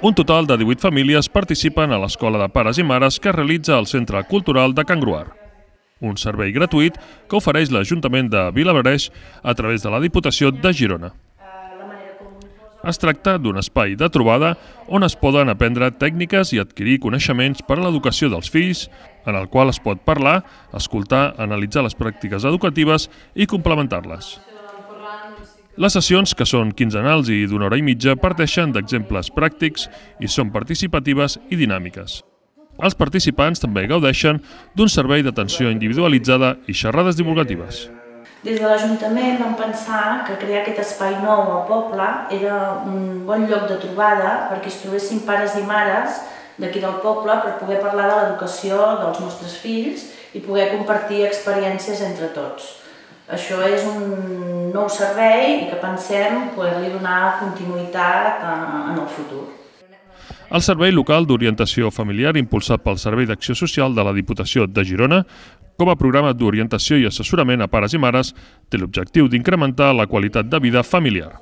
Un total de 18 famílies participen a l'Escola de Pares i Mares que realitza el Centre Cultural de Can Gruar. Un servei gratuït que ofereix l'Ajuntament de Vilablareix a través de la Diputació de Girona. Es tracta d'un espai de trobada on es poden aprendre tècniques i adquirir coneixements per a l'educació dels fills, en el qual es pot parlar, escoltar, analitzar les pràctiques educatives i complementar-les. Les sessions, que són quinzenals i d'una hora i mitja, parteixen d'exemples pràctics i són participatives i dinàmiques. Els participants també gaudeixen d'un servei d'atenció individualitzada i xerrades divulgatives. Des de l'Ajuntament vam pensar que crear aquest espai nou al poble era un bon lloc de trobada perquè es trobessin pares i mares d'aquí del poble per poder parlar de l'educació dels nostres fills i poder compartir experiències entre tots. Això és un nou servei i que pensem poder-li donar continuïtat en el futur. El Servei Local d'Orientació Familiar, impulsat pel Servei d'Acció Social de la Diputació de Girona, com a programa d'orientació i assessorament a pares i mares, té l'objectiu d'incrementar la qualitat de vida familiar.